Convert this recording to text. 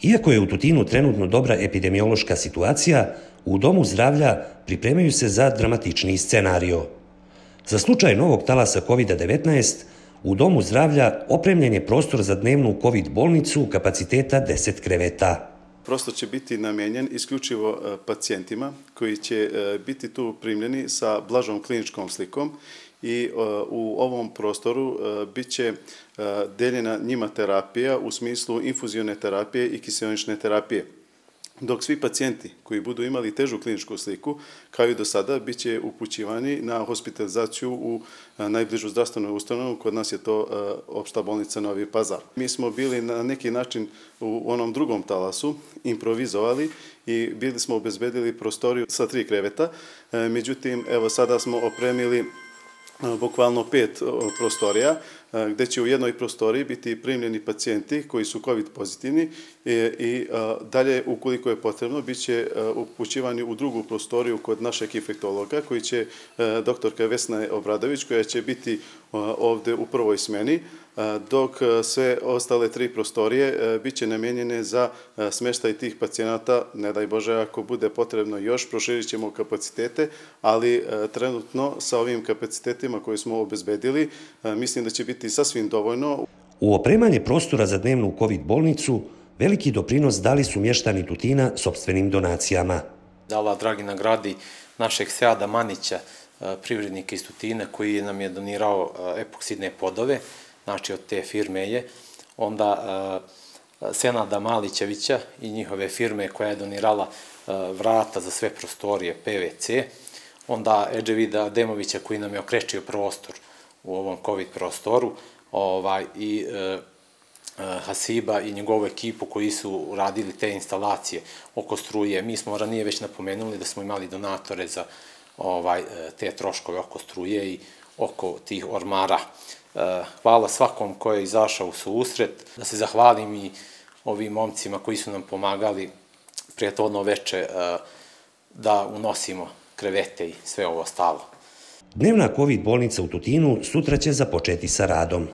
Iako je u Tutinu trenutno dobra epidemiološka situacija, u Domu zdravlja pripremaju se za dramatičniji scenario. Za slučaj novog talasa COVID-19, u Domu zdravlja opremljen je prostor za dnevnu COVID bolnicu kapaciteta 10 kreveta. Prostor će biti namijenjen isključivo pacijentima koji će biti tu primljeni sa blažom kliničkom slikom i u ovom prostoru bit će deljena njima terapija u smislu infuzione terapije i kiseonične terapije. Dok svi pacijenti koji budu imali težu kliničku sliku, kao i do sada, bit će upućivani na hospitalizaciju u najbližu zdravstvenu ustanovu, kod nas je to Opšta bolnica Novi Pazar. Mi smo bili na neki način u onom drugom talasu, improvizovali i bili smo obezbedili prostoriju sa 3 kreveta, međutim, evo sada smo opremili bukvalno 5 prostorija, gde će u jednoj prostoriji biti primljeni pacijenti koji su COVID pozitivni i dalje, ukoliko je potrebno, bit će upućivani u drugu prostoriju kod našeg infektologa, koji će doktorka Vesna Obradović, koja će biti ovde u prvoj smeni, dok sve ostale 3 prostorije bit će namijenjene za smeštaj tih pacijenata. Ne daj Bože, ako bude potrebno još, proširit ćemo kapacitete, ali trenutno sa ovim kapacitetima koje smo obezbedili, mislim da će biti sasvim dovoljno. U opremanje prostora za dnevnu COVID bolnicu veliki doprinos dali su mještani Tutina sopstvenim donacijama. Allah dragi nagradi našeg Seada Manića, privrednika iz Tutina, koji nam je donirao epoksidne podove, znači od te firme je, onda Senada Malićevića i njihove firme koja je donirala vrata za sve prostorije PVC, onda Edževida Demovića koji nam je okrečio prostor u ovom COVID prostoru i Hasiba i njegovu ekipu koji su radili te instalacije oko struje. Mi smo ranije već napomenuli da smo imali donatore za te troškove oko struje i oko tih ormara. Hvala svakom ko je izašao u susret, da se zahvalim i ovim momcima koji su nam pomagali prethodno veče da unosimo krevete i sve ovo ostalo. Dnevna COVID bolnica u Tutinu sutra će započeti sa radom.